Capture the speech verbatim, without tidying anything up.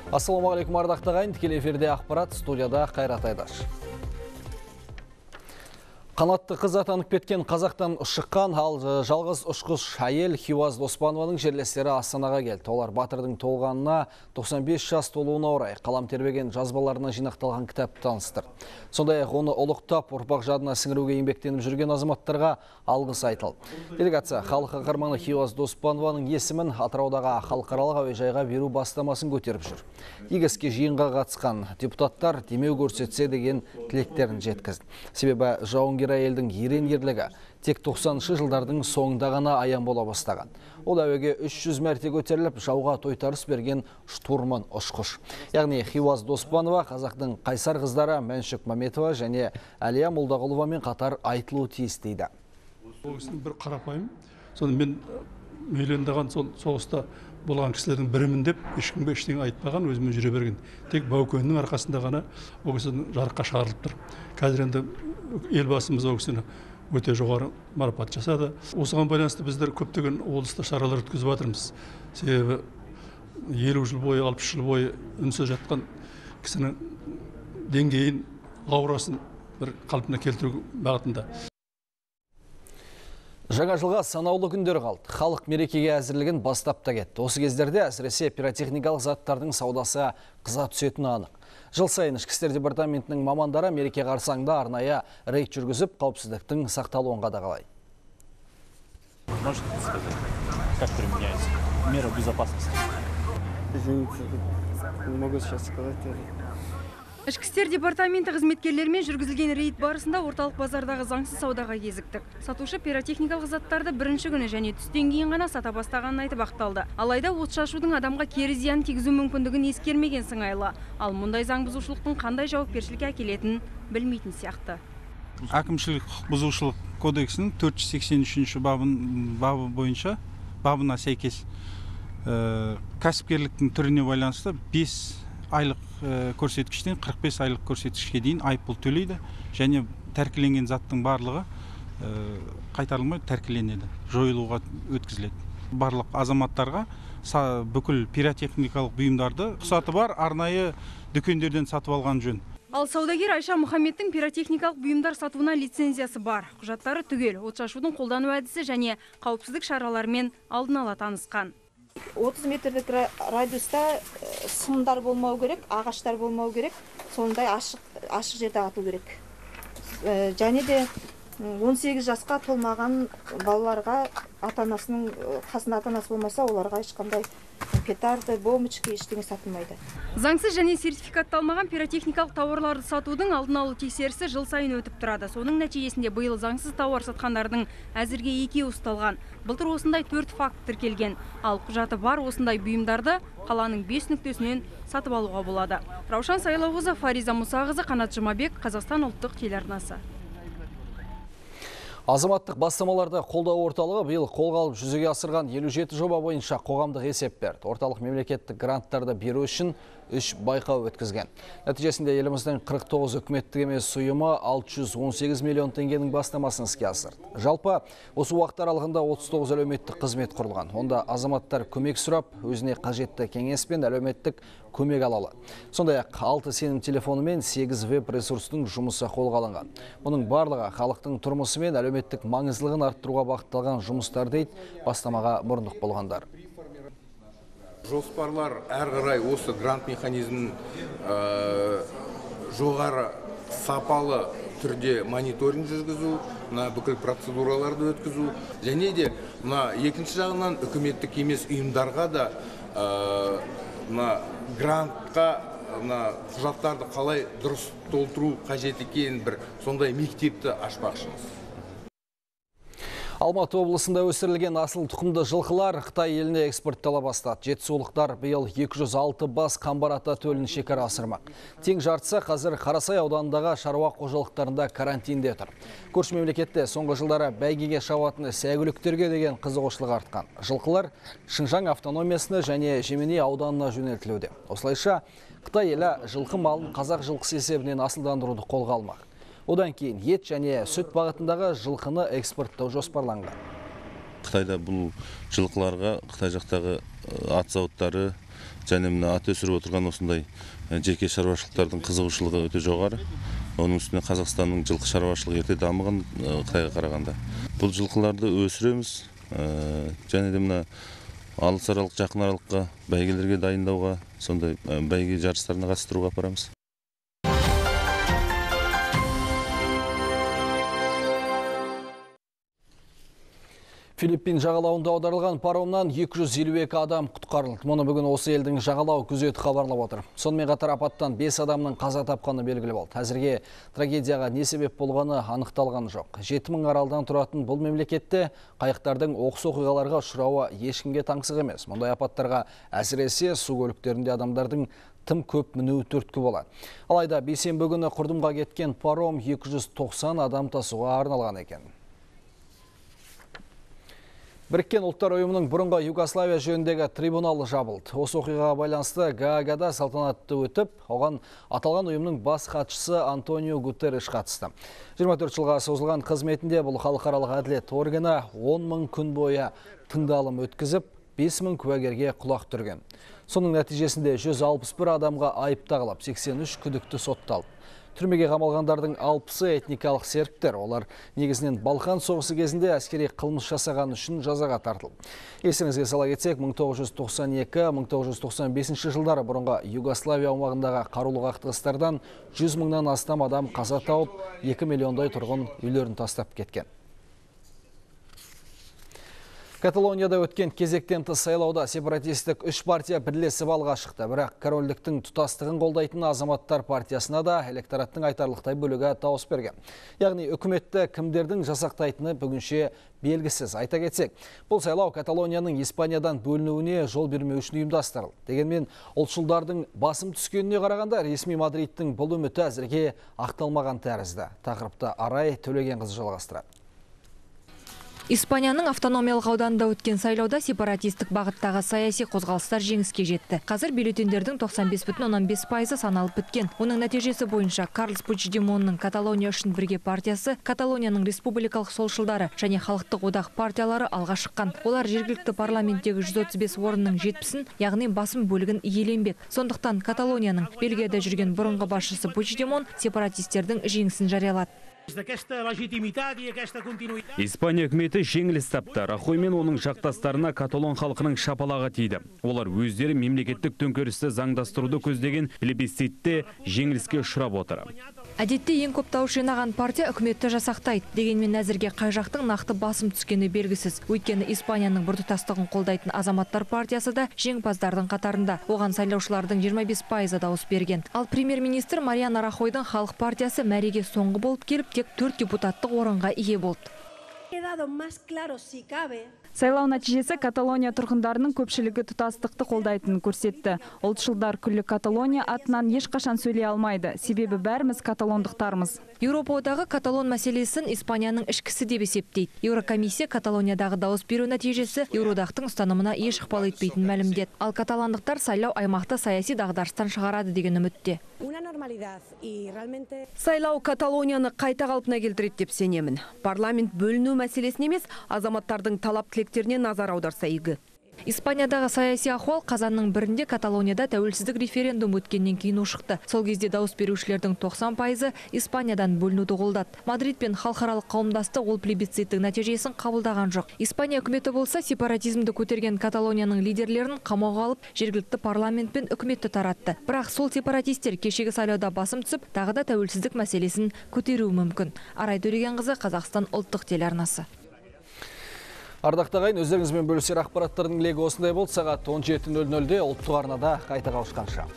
Ассалаумағалейкум ардақты ағайын, тікелей эфирде ақпарат, студияда Қайрат Айдаш. Қанатты қыз атанып кеткен қазақтан шыққан ал жалғыз ұшқыш әйел Хиуаз Доспанованың жерлестері Астанаға келді. Олар батырдың толғанына тоқсан бес жас толуына орай қалам тербеген жазбаларына жинақталған кітапты таныстырды. Сондай-ақ оны ұлықтап, ұрпақ жадына сіңіруге еңбектеніп жүрген азаматтарға алғыс айтылды. Делегация халық қаһарманы Хиуаз Доспанованың есімін Атыраудағы халықаралық әуежайға беру бастамасын көтеріп жүр. Игі іске жиынға қатысқан депутаттар демеу көрсетсе деген тілектерін жеткізді. Себебі жауынгер әйелдің ерен ерлігі тек тоқсаныншы жылдардың соңында ғана аян бола бастаған. Ол әуеге үш жүз мәрте көтеріліп, жауға тойтарыс берген штурман ұшқыш. Яғни Хиуаз Доспанова қазақтың қайсар қыздары Мәншүк Мәметова және Әлия Молдағұловамен қатар айтылуы тиіс дейді. Ол кісінің бір қарапайым, соны мен үйлендіған сол соғыста болған кісілердің бірімін деп ешкімге ештеңе айтпаған, өзімен жүре берген. Тек Баукөннің арқасында ғана ол кісінің жарыққа шығарылып тұр. Қазір енді елбасымыз ол кісіні өте жоғары марапат жасады. Осыған байланысты біздер көптеген облыста шаралар өткізіп жатырмыз. Себебі елу жыл бойы, алпыс жыл бойы үнсіз жатқан кісінің деңгейін, аурасын бір қалпына келтіру бағытында. Жаңа жылға санаулы күндер қалды. Халық мерекеге әзірлігін бастап та кетті. Осы кездерде әсіресе пиротехникалық заттардың саудасы қыза түсетіні анық. Жыл сайын ішкі істер департаментінің мамандары мереке қарсаңында арнайы рейд жүргізіп, қауіпсіздіктің сақталуын қадағалайды. Можете сказать, как применяется мера безопасности? Извините, не могу сейчас сказать. Ішкі істер департаменті қызметкерлерімен жүргізілген рейд барысында орталық базардағы заңсыз саудаға кезіктік. Сатушы пиротехникалық заттарды бірінші күні және түстен кейін ғана сата бастағанын айтып ақталды. Алайда от шашудың адамға кері зиян тигізу мүмкіндігін ескермеген сыңайлы. Ал мұндай заң бұзушылықтың қандай жауапкершілікке әкелетінін білмейтін сияқты. Әкімшілік құқық бұзушылық кодексінің төрт жүз сексен үшінші бабы бойынша бабына сәйкес кәсіпкерліктің түріне байланысты бес айлық көрсеткіштен қырық бес айлық көрсеткішке дейін айыппұл төлейді және тәркіленген заттың барлығы қайтарылмай тәркіленеді, жойылуға өткізіледі. Барлық азаматтарға бүкіл пиротехникалық бұйымдарды рұқсаты бар арнайы дүкендерден сатып алған жөн. Ал саудагер Айша Мұхаммедтің пиротехникалық бұйымдар сатуына лицензиясы бар. Құжаттары түгел, от шашудың қолдану әдісі және қауіпсіздік шараларымен алдын ала танысқан. отыз метрлік радиуста сымдар болмау керек, ағаштар болмау керек, сондай ашық, ашық жерде ату керек. Және де он сегіз жасқа толмаған балаларға ата-анасының қасында ата-анасы болмаса, оларға ешқандай петарды, бомбочка ештеңе сатылмайды. Заңсыз және сертификатталмаған пиротехникалық тауарларды сатудың алдын алу тексерісі жыл сайын өтіп тұрады. Соның нәтижесінде биыл заңсыз тауар сатқандардың әзірге екеуі ұсталған. Былтыр осындай төрт факт тіркелген. Ал құжаты бар осындай бұйымдарды қаланың бес нүктесінен сатып алуға болады. Раушан Сайлауқызы, Фариза Мұсағызы, Қанат Жұмабек, Қазақстан ұлттық телеарнасы. Азаматтық бастамаларды қолдау орталығы биыл қолға алып жүзеге асырған елу жеті жоба бойынша қоғамдық есеп берді. Орталық мемлекеттік гранттарды беру үшін үш байқау өткізген. Нәтижесінде еліміздің қырық тоғыз үкіметтік емес ұйымы алты жүз он сегіз миллион теңгенің бастамасын іске асырды. Жалпы осы уақыт аралығында отыз тоғыз әлеуметтік қызмет құрылған. Онда азаматтар көмек сұрап, өзіне қажетті кеңес пен әлеуметтік көмек алалы. Сондай-ақ алты сенім телефоны мен сегіз веб-ресурстың жұмысы қолға алынған. Мұның барлығы халықтың тұрмысы мен әлеуметтік маңыздылығын арттыруға бағытталған жұмыстар дейді бастамаға мұрындық болғандар. Жоспарлар әр қарай осы грант механизмін жоғары сапалы түрде мониторинг жүргізу, бүкіл процедураларды өткізу, және де екінші жағынан үкіметтік емес ұйымдарға да грантқа құжаттарды қалай дұрыс толтыру қажет екенін бір сондай мектепті ашпақшымыз. Алматы облысында өсірілген асыл тұқымды жылқылар Қытай еліне экспорттала бастады. Жетісулықтар биыл екі жүз алты бас қамбар ата төлін шекара асырмақ. Тең жартысы қазір Қарасай ауданындағы шаруа қожалықтарында карантинде тұр. Көрші мемлекетте соңғы жылдары бәйгеге шабатын сәйгүліктерге деген қызығушылық артқан. Жылқылар Шыңжаң автономиясына және Жеменей ауданына жөнелтілуде. Осылайша Қытай елі жылқы малын қазақ жылқысы есебінен асылдандыруды қолға алмақ. Одан кейін ет және сүт бағытындағы жылқыны экспорттау жоспарланған. Қытайда бұл жылқыларға Қытай жақтағы ат зауыттары және мына ат өсіріп отырған осындай жеке шаруашылықтардың қызығушылығы өте жоғары. Оның үстіне Қазақстанның жылқы шаруашылығы ерте дамыған Қытайға қарағанда. Бұл жылқыларды өсіреміз, және де мына алыс аралық, жақын аралыққа бәйгелерге дайындауға, сондай бәйге жарыстарына қатыстыруға апарамыз. Филиппин жағалауында аударылған паромнан екі жүз елу екі адам құтқарылды. Мұны бүгін осы елдің жағалау күзеті хабарлап отыр. Сонымен қатар апаттан бес адамның қаза тапқаны белгілі болды. Әзірге трагедияға не себеп болғаны анықталған жоқ. жеті мың аралдан тұратын бұл мемлекетте қайықтардың оқыс оқиғаларға ұшырауы ешкімге таңсық емес. Мұндай апаттарға әсіресе су көліктерінде адамдардың тым көп мінуі түрткі болады. Алайда бейсенбі күні құрдымға кеткен паром екі жүз тоқсан адам тасуға арналған екен. Біріккен ұлттар ұйымының бұрынғы Югославия жөніндегі трибуналы жабылды. Осы оқиғаға байланысты Гаагада салтанатты өтіп, оған аталған ұйымның бас хатшысы Антонио Гутерриш қатысты. жиырма төрт жылға созылған қызметінде бұл халықаралық әділет органы он мың күн бойы тыңдалым өткізіп, бес мың куәгерге құлақ түрген. Соның нәтижесінде жүз алпыс бір адамға айып тағылып, сексен үш күдікті сотталды. Түрмеге қамалғандардың алпысы этникалық сербтер. Олар негізінен Балқан соғысы кезінде әскери қылмыс жасаған үшін жазаға тартылды. Есіңізге сала кетсек, мың тоғыз жүз тоқсан екі - мың тоғыз жүз тоқсан бесінші жылдары бұрынғы Югославия аумағындағы қарулы қақтығыстардан жүз мыңнан астам адам қаза тауып, екі миллиондай тұрғын үйлерін тастап кеткен. Каталонияда өткен кезектен тыс сайлауда сепаратистік үш партия бірлесіп алға шықты. Бірақ корольдіктің тұтастығын қолдайтын азаматтар партиясына да электораттың айтарлықтай бөлігі дауыс берген. Яғни үкіметті кімдердің жасақтайтыны бүгінше белгісіз. Айта кетсек, бұл сайлау Каталонияның Испаниядан бөлінуіне жол бермеу үшін ұйымдастырылды. Дегенмен ұлтшылдардың басым түскеніне қарағанда ресми Мадридтің бұл үміті әзірге ақталмаған тәрізді. Тақырыпты Арай Төлеген қызы жалғастырады. Испанияның автономиялық ауданында өткен сайлауда сепаратистік бағыттағы саяси қозғалыстар жеңіске жетті. Қазір бюллетендердің тоқсан бес бүтін оннан бес пайызы саналып біткен. Оның нәтижесі бойынша Карлес Пучдемонның Каталония үшін бірге партиясы, Каталонияның республикалық солшылдары және халықтық одақ партиялары алға шыққан. Олар жергілікті парламенттегі жүз отыз бес орынның жетпісін, яғни басым бөлігін иеленбек. Сондықтан Каталонияның Бельгияда жүрген бұрынғы басшысы Пучдемон сепаратистердің жеңісін жариялады. Испания үкіметі жеңіліс тапты. Рахой мен оның жақтастарына каталон халқының шапалағы тиді. Олар өздері мемлекеттік төңкерісті заңдастыруды көздеген плебисцитте жеңіліске ұшырап отыр. Әдетте ең көп дауыс жинаған партия үкіметті жасақтайды. Дегенмен әзірге қай жақтың нақты басым түскені белгісіз. Өйткені Испанияның біртұтастығын қолдайтын азаматтар партиясы да жеңімпаздардың қатарында. Оған сайлаушылардың жиырма бес пайызы дауыс берген. Ал премьер-министр Мариано Рахойдың халық партиясы мәреге соңғы болып келіп, тек төрт депутаттық орынға ие болды. Сайлау нәтижесі Каталония тұрғындарының көпшілігі тұтастықты қолдайтынын көрсетті. Ұлтшылдар күллі Каталония атынан ешқашан сөйлей алмайды. Себебі бәріміз каталондықтармыз. Еуропа одағы Каталон мәселесін Испанияның ішкісі деп есептейді. Еурокомиссия Каталониядағы дауыс беру нәтижесі Еуроодақтың ұстанымына еш ықпал етпейтінін мәлімдеді. Ал каталандықтар сайлау аймақты саяси дағдарыстан шығарады деген үмітте. Сайлау Каталонияны қайта қалпына келтіреді деп сенемін. Парламент бөліну мәселесін емес, азаматтардың талап тілектеріне назар аударса игі. Испаниядағы саяси ахуал қазанның бірінде Каталонияда тәуелсіздік референдум өткеннен кейін ушықты. Сол кезде дауыс берушілердің тоқсан пайызы Испаниядан бөлінуді қолдады. Мадрид пен халықаралық қауымдастық ол плебисциттің нәтижесін қабылдаған жоқ. Испания үкіметі болса сепаратизмді көтерген Каталонияның лидерлерін қамауға алып, жергілікті парламент пен үкіметті таратты. Бірақ сол сепаратистер кешегі сайлауда басым түсіп, тағы да тәуелсіздік мәселесін көтеруі мүмкін. Арай Төлеген қызы, Қазақстан ұлттық телеарнасы. Ардақты ағайын, өздеріңізбен бөлісер ақпараттардың легі осындай болды. Сағат он жеті нөл нөлде ұлттық арнада қайта қауышқанша.